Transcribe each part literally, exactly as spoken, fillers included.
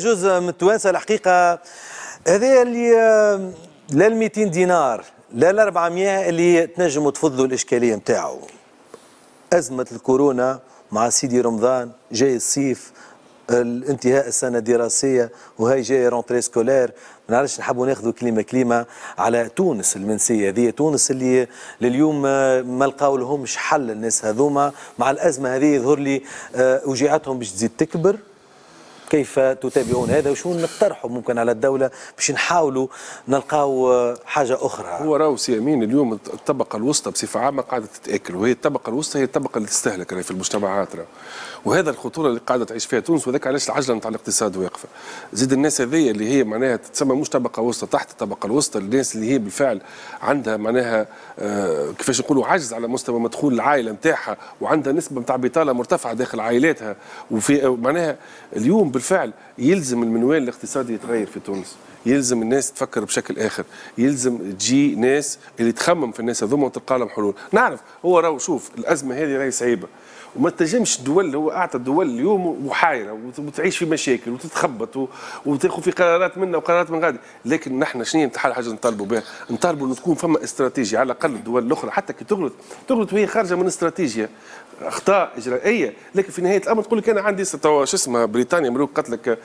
جزء من التوانسة الحقيقة هذا اللي لا ال مئتين دينار لا ال أربعمئة اللي تنجموا تفضلوا الاشكالية نتاعو. ازمة الكورونا مع سيدي رمضان، جاي الصيف، الانتهاء السنة الدراسية، وهي جاي rentrée scolaire. ما نعرفش نحبوا ناخذوا كلمة كلمة على تونس المنسيه هذه، تونس اللي لليوم ما لقاو لهمش حل الناس هذوما مع الازمة هذه، يظهر لي وجيعتهم باش تزيد تكبر. كيف تتابعون هذا وشو نقترحوا ممكن على الدولة باش نحاولوا نلقاو حاجة أخرى؟ هو راهو سي أمين اليوم الطبقة الوسطى بصفة عامة قاعدة تتآكل، وهي الطبقة الوسطى هي الطبقة اللي تستهلك في المجتمعات راه. وهذا الخطورة اللي قاعدة تعيش فيها تونس، وذاك علاش العجلة نتاع الاقتصاد واقفة. زيد الناس هذيا اللي هي معناها تتسمى مش طبقة وسطى، تحت الطبقة الوسطى، الناس اللي هي بالفعل عندها معناها آه كيفاش نقولوا عجز على مستوى مدخول العائلة نتاعها، وعندها نسبة نتاع بطالة مرتفعة داخل عائلاتها، وفي معناها اليوم بالفعل يلزم المنوال الاقتصادي يتغير في تونس، يلزم الناس تفكر بشكل اخر، يلزم تجي ناس اللي تخمم في الناس هذوما وتلقى لهم حلول. نعرف هو راهو شوف الازمة هذه راهي صعيبة، وما تنجمش الدول، هو اعطى الدول اليوم محايره وتعيش في مشاكل وتتخبط وتاخذ في قرارات منا وقرارات من غادي، لكن نحن شنو حاجة نطالبوا بها؟ نطالبوا انه تكون فما استراتيجية على الاقل الدول الاخرى حتى كي تغلط تغلط وهي خارجه من استراتيجية، اخطاء اجرائيه، لكن في نهاية الامر تقول لك انا عندي شو اسمها بريطانيا ملوك قالت لك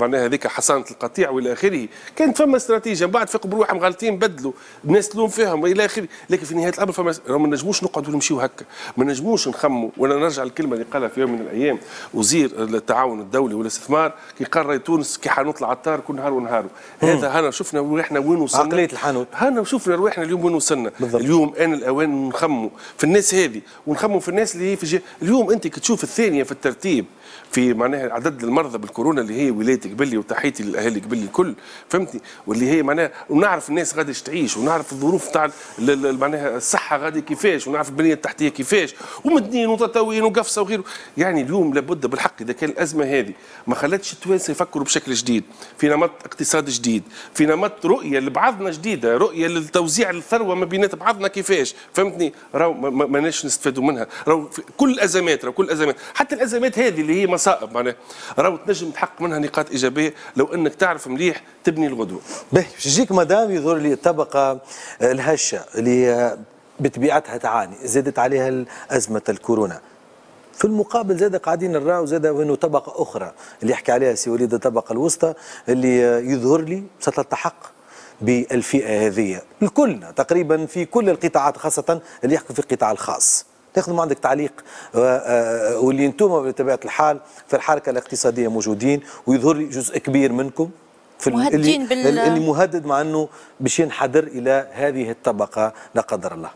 معناها هذيك حصانه القطيع والى اخره، كانت فما استراتيجية، من بعد فاقوا بروحهم غالطين بدلوا، الناس تلوم فيهم والى اخره، لكن في نهاية الامر فما ما نجموش نقعدوا نمشيو هكا، ما نجموش نخموا. وانا نرجع الكلمة اللي قالها في يوم من الايام وزير التعاون الدولي والاستثمار كي قال تونس كي حانوت العطار كل نهار ونهاره، هذا هنا شفنا روحنا وين وصلنا، عقلية الحانوت، هنا شفنا روحنا اليوم وين وصلنا. بالضبط. اليوم ان الاوان نخموا في الناس هذه ونخموا في الناس اللي هي في جي... اليوم انت كي تشوف الثانية في الترتيب في معناها عدد المرضى بالكورونا اللي هي ولاية قبلي، وتحيتي للاهالي قبلي الكل، فهمتني، واللي هي معناها ونعرف الناس غادي تعيش، ونعرف الظروف تاع معناها الصحة غادي كيفاش، ونعرف البنية التحتية كيفاش، ومدنين وتطاوين وقفصه وغيره. يعني اليوم لابد بالحق اذا كان الازمة هذه ما خلتش التوانسة يفكروا بشكل جديد، في نمط اقتصاد جديد، في نمط رؤية لبعضنا جديدة، رؤية للتوزيع الثروة ما بينات بعضنا كيفاش، فهمتني، راهو ماناش نستفادوا منها. راهو كل الازمات، راهو كل الازمات، حتى الازمات هذه اللي هي مصائب معناها راهو تنجم تحقق منها نقاط ايجابية لو انك تعرف مليح تبني الغدوه. باهي باش يجيك مدام يظهر لي الطبقة الهشه اللي بطبيعتها تعاني، زادت عليها ازمة الكورونا. في المقابل زاد قاعدين نراو زاد انه طبقه اخرى اللي يحكي عليها سي وليد، الطبقة الوسطى اللي يظهر لي ستلتحق بالفئه هذه الكل تقريبا في كل القطاعات، خاصة اللي يحكوا في القطاع الخاص. تاخذ ما عندك تعليق، واللي انتم بطبيعة الحال في الحركة الاقتصادية موجودين، ويظهر لي جزء كبير منكم في اللي, بال... اللي مهدد مع انه باش ينحدر الى هذه الطبقة لا قدر الله.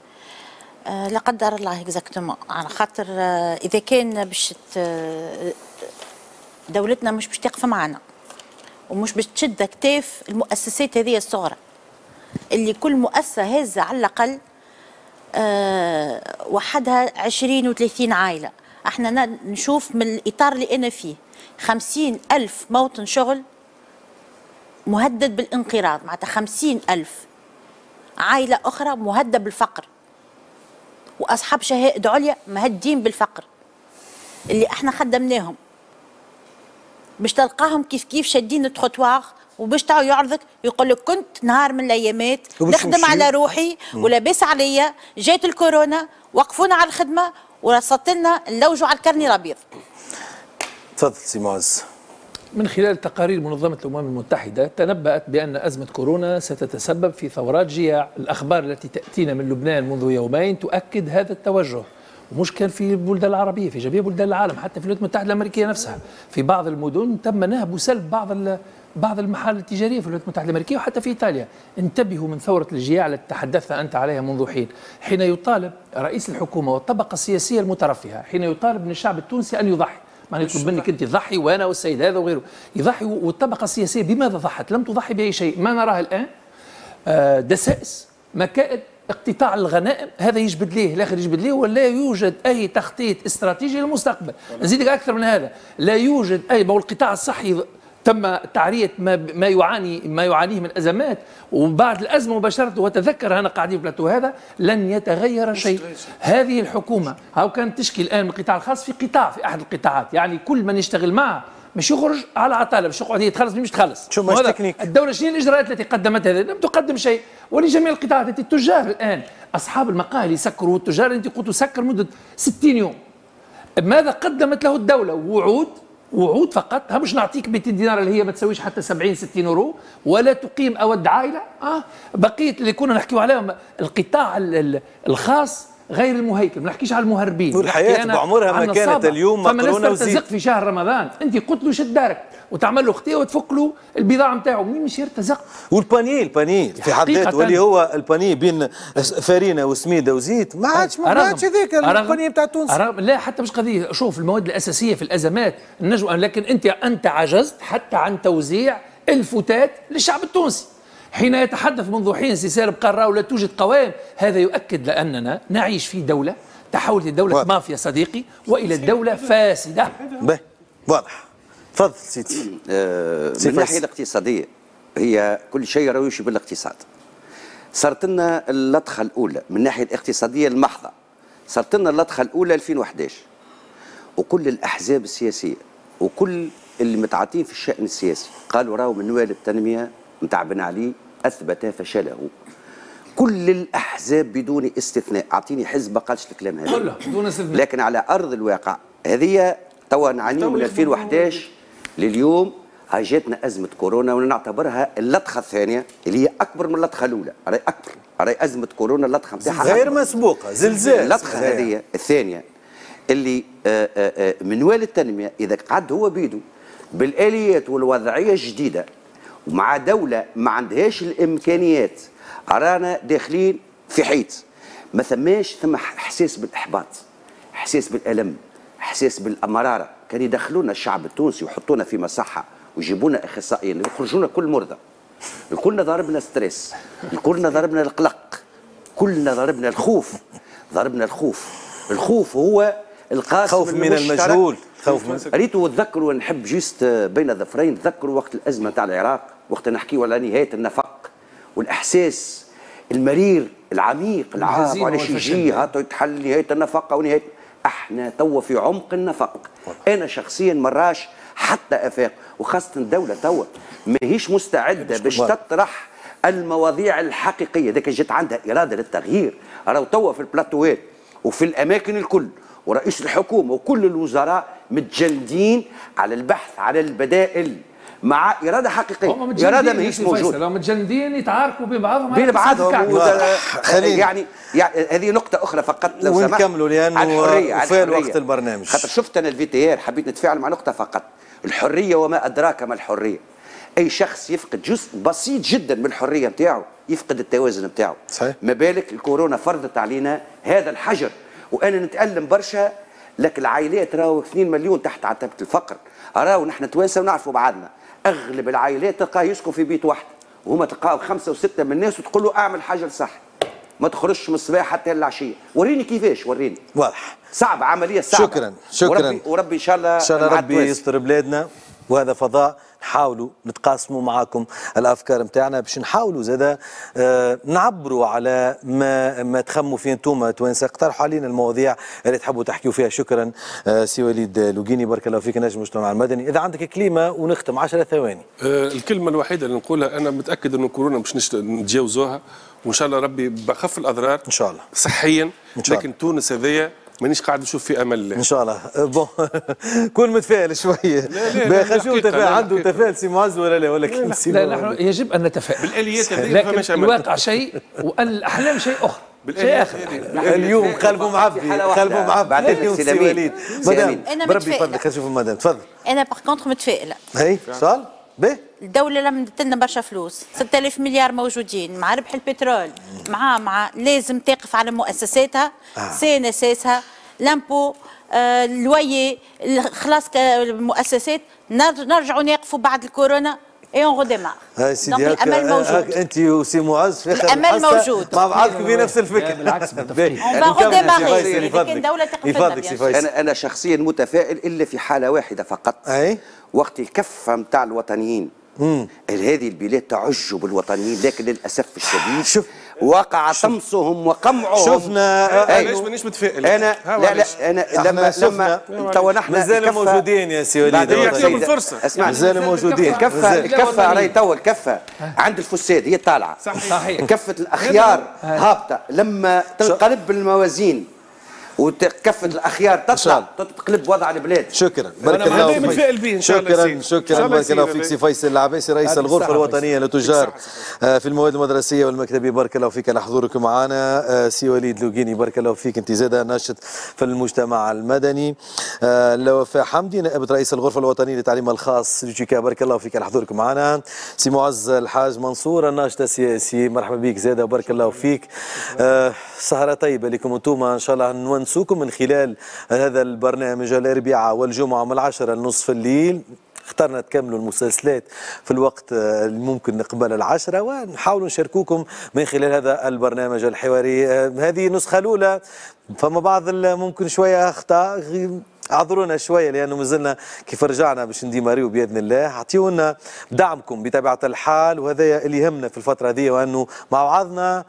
آه لا قدر الله exactement، على خاطر آه اذا كان باش دولتنا مش باش تقف معنا ومش باش تشد اكتاف المؤسسات هذه الصغرى اللي كل مؤسسة هازه على الاقل أه وحدها عشرين وثلاثين عائلة. احنا نشوف من الاطار اللي انا فيه خمسين ألف موطن شغل مهدد بالانقراض، معناتها خمسين ألف عائلة أخرى مهددة بالفقر، وأصحاب شهائد عليا مهددين بالفقر اللي احنا خدمناهم باش تلقاهم كيف كيف شادين التروتوار، وباش تعاو يعرضك يقول لك كنت نهار من الايامات نخدم على روحي ولاباس عليا، جات الكورونا وقفونا على الخدمة ورصدت لنا نلوجوا على الكرني الابيض. تفضل سي معز. من خلال تقارير منظمة الأمم المتحدة تنبأت بأن أزمة كورونا ستتسبب في ثورات جياع. الأخبار التي تأتينا من لبنان منذ يومين تؤكد هذا التوجه، ومش كان في البلدان العربية، في جميع بلدان العالم، حتى في الولايات المتحدة الأمريكية نفسها في بعض المدن تم نهب وسلب بعض بعض المحال التجارية في الولايات المتحدة الأمريكية وحتى في إيطاليا. انتبهوا من ثورة الجياع التي تحدثت أنت عليها منذ حين، حين يطالب رئيس الحكومة والطبقة السياسية المترفهة، حين يطالب من الشعب التونسي أن يضحي، معناها يطلب منك أنت تضحي وأنا والسيد هذا وغيره يضحي، والطبقة السياسية بماذا ضحت؟ لم تضحي بأي شيء. ما نراه الآن دسائس، مكائد، اقتطاع الغنائم، هذا يجبد ليه الاخر يجبد ليه، ولا يوجد اي تخطيط استراتيجي للمستقبل. نزيدك اكثر من هذا، لا يوجد اي، ما هو القطاع الصحي تم تعرية ما ما يعاني ما يعانيه من ازمات، وبعد الازمة مباشرة، وتذكر انا قاعدين في بلاتو هذا، لن يتغير شيء. هذه الحكومة هاو كانت تشكي الان من القطاع الخاص في قطاع في احد القطاعات، يعني كل من يشتغل معه مش يخرج على عطاله، باش يقعد يتخلص مش تخلص. شو مش تكنيك. الدولة شنو الاجراءات التي قدمتها؟ لم تقدم شيء، ولجميع القطاعات. التجار الان اصحاب المقاهي اللي سكروا، والتجار انت قلت سكر مده ستين يوم، ماذا قدمت له الدولة؟ وعود، وعود فقط. ها مش نعطيك مئتين دينار اللي هي ما تسويش حتى سبعين ستين اورو، ولا تقيم اود عائلة. اه بقية اللي كنا نحكيو عليهم القطاع الخاص غير المهيكل، ما نحكيش على المهربين. والحياة بعمرها ما كانت اليوم مقرونة وزيت. ترتزق في شهر رمضان، انت قلت له شد دارك وتعمل له خطيه وتفك له البضاعة نتاعو، منين مش يرتزق؟ وال panier ال panier في حد ذاته واللي هو ال panier بين فرينه وسميده وزيت ما عادش ما عادش هذاك ال panier نتاع تونس. لا حتى مش قضية، شوف المواد الاساسية في الازمات النجم، لكن انت انت عجزت حتى عن توزيع الفتات للشعب التونسي. حين يتحدث منذ حين سي سالم قال راهو لا توجد قوائم، هذا يؤكد لأننا نعيش في دولة تحولت لدولة واضح. مافيا صديقي، وإلى دولة فاسدة. به واضح. تفضل سيدي. آه من الناحية الاقتصادية هي كل شيء راهو يمشي بالاقتصاد. صارت لنا اللطخة الأولى من الناحية الاقتصادية المحضة، صارت لنا اللطخة الأولى ألفين وأحد عشر، وكل الأحزاب السياسية وكل اللي متعاطين في الشأن السياسي قالوا راهو منوال التنمية نتاع بن علي اثبت فشله. كل الاحزاب بدون استثناء، اعطيني حزب ما قالش الكلام هذا كله بدون استثناء. لكن على ارض الواقع هذه توا نعانيو من ألفين وأحد عشر لليوم، هاي جاتنا ازمة كورونا ونعتبرها اللطخه الثانية اللي هي اكبر من اللطخه الاولى، راهي اكبر، راهي ازمة كورونا اللطخه نتاعها غير مسبوقة، زلزال. اللطخه هذه الثانية اللي آآ آآ منوال التنمية اذا قعد هو بيدو بالاليات والوضعيه الجديدة ومع دولة ما عندهاش الإمكانيات، رانا داخلين في حيط. ما ثماش ثم إحساس بالإحباط، إحساس بالألم، إحساس بالمرارة. كان يدخلونا الشعب التونسي ويحطونا في مصحة ويجيبونا أخصائيين يخرجونا كل مرضى. الكلنا ضربنا stress، الكلنا ضربنا القلق، كلنا ضربنا الخوف، ضربنا الخوف. الخوف هو القاسم خوف من المجهول، خوف من ريتو. وتذكروا نحب juste بين ظفرين، تذكروا وقت الازمة تاع العراق، وقت نحكيو على نهاية النفق والاحساس المرير العميق العام وعلاش يجي هاتو يتحل نهاية النفق ونهاية. احنا توا في عمق النفق. انا شخصيا مراش حتى افاق، وخاصة الدولة توا ماهيش مستعدة باش تطرح المواضيع الحقيقية. ذاك جات عندها اراده للتغيير، راهو توا في البلاتوات وفي الاماكن الكل، ورئيس الحكومة وكل الوزراء متجندين على البحث على البدائل مع إرادة حقيقية. إرادة ماهيش موجودة. هم متجندين يتعاركوا بين بعضهم بين بعضهم. يعني, يعني هذه نقطة أخرى فقط لو سمحت ونكملوا لأنه وفى وقت البرنامج. خاطر شفت أنا ال VTR حبيت نتفاعل مع نقطة فقط، الحرية وما أدراك ما الحرية. أي شخص يفقد جزء بسيط جدا من الحرية نتاعو يفقد التوازن نتاعو. صحيح. ما بالك الكورونا فرضت علينا هذا الحجر. وانا نتالم برشا، لكن العائلات راهو اثنين مليون تحت عتبة الفقر، راهو نحن توانسة ونعرفوا بعضنا، اغلب العائلات تلقاه يسكن في بيت واحد، وهما تلقاو خمسة وستة من الناس وتقول له اعمل حجر صح، ما تخرجش من الصباح حتى العشية، وريني كيفاش، وريني. واضح. صعبة، عملية صعبة. شكرا شكرا. وربي, وربي ان شاء الله ان شاء الله ربي يستر بلادنا. وهذا فضاء نحاولوا نتقاسموا معاكم الافكار نتاعنا باش نحاولوا زادا آه نعبروا على ما ما تخموا فيه انتم توانسة. اقترحوا علينا المواضيع اللي تحبوا تحكيوا فيها. شكرا آه سي وليد لوقيني، بارك الله فيك. نجم المجتمع المدني، اذا عندك كلمة ونختم عشرة ثواني. آه الكلمة الوحيدة اللي نقولها، انا متاكد انه كورونا باش نتجاوزوها وان شاء الله ربي بخف الاضرار ان شاء الله صحيا، إن شاء الله. لكن تونس هذيا مانيش قاعد نشوف في امل ان شاء الله. bon كون متفائل شوية. خلينا نشوف تفاعل، عنده تفاؤل سي معز ولا لا؟ ولا كيف سي؟ لا، نحن يجب ان نتفائل بالاليات هذه، لكن الواقع شيء والاحلام شيء اخر. شيء اخر. اليوم قلبه معبي، قلبه معبي اليوم سي وليد. مدام بربي يفضلك، خلينا نشوف المدام تفضل. انا par contre متفائلة. هي سؤال به. الدولة لمدت لنا برشا فلوس، ستة آلاف مليار موجودين مع ربح البترول، مع مع لازم تقف على مؤسساتها، آه. CNSS ها، l'impôt، آه، ال loyer، خلاص المؤسسات، نرجعوا نقفوا بعد الكورونا et on redémarre. هاي سيدي الامل موجود. انت وسي معز في اخر الامل موجود مع بعضكم في نفس الفكرة. بالعكس on va redémarrer. لكن دولة تقف لنا. انا انا شخصيا متفائل الا في حاله واحدة فقط. اي وقت الكفة نتاع الوطنيين. هذه البلاد تعج بالوطنيين، لكن للاسف الشديد شوف وقع طمسهم وقمعهم. شفنا علاش مانيش متفائل انا. لا لا انا لما لما توا نحن مازالوا موجودين يا سي وليد، يعطيهم الفرصة. اسمع، مازالوا موجودين. الكفة الكفة راهي توا الكفة عند الفساد هي طالعه، صحيح. كفه الاخيار هابطة. لما تنقلب الموازين وكفه الاخيار تطلع تتقلب وضع البلاد. شكرا، بارك الله فيك. شكرا شكرا، بارك الله فيك سي فيصل العباسي رئيس الغرفة الوطنية للتجار في المواد المدرسية والمكتبيه، بارك الله فيك على حضورك معنا. سي وليد لوقيني بارك الله فيك، انت زاده ناشط في المجتمع المدني. لوفاء حمدي نائبه رئيس الغرفة الوطنية للتعليم الخاص l'UTICA، بارك الله فيك على حضورك معنا. سي معز الحاج منصور الناشط السياسي، مرحبا بك زاده، بارك الله فيك. سهره طيبة لكم انتم، ان شاء الله نونسوكم من خلال هذا البرنامج الأربعاء والجمعة من العشرة لنصف الليل. اخترنا تكملوا المسلسلات في الوقت الممكن قبل العشرة، ونحاولوا نشاركوكم من خلال هذا البرنامج الحواري. هذه النسخة الأولى، فما بعض ممكن شوية أخطاء، اعذرونا شوية لانه مازلنا كيف رجعنا باش نديماريو باذن الله. اعطيونا دعمكم بطبيعة الحال، وهذا اللي يهمنا في الفترة هذه، وانه مع بعضنا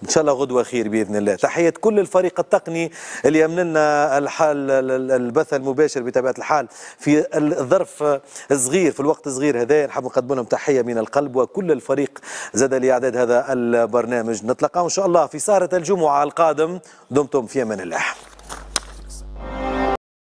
ان شاء الله غدوه خير باذن الله. تحية كل الفريق التقني اللي يمن لنا الحال البث المباشر بطبيعة الحال في الظرف الصغير في الوقت الصغير هذا، نحب نقدم لهم تحية من القلب، وكل الفريق زاد لاعداد هذا البرنامج. نتلقاو ان شاء الله في سهره الجمعة القادم، دمتم في امان الله.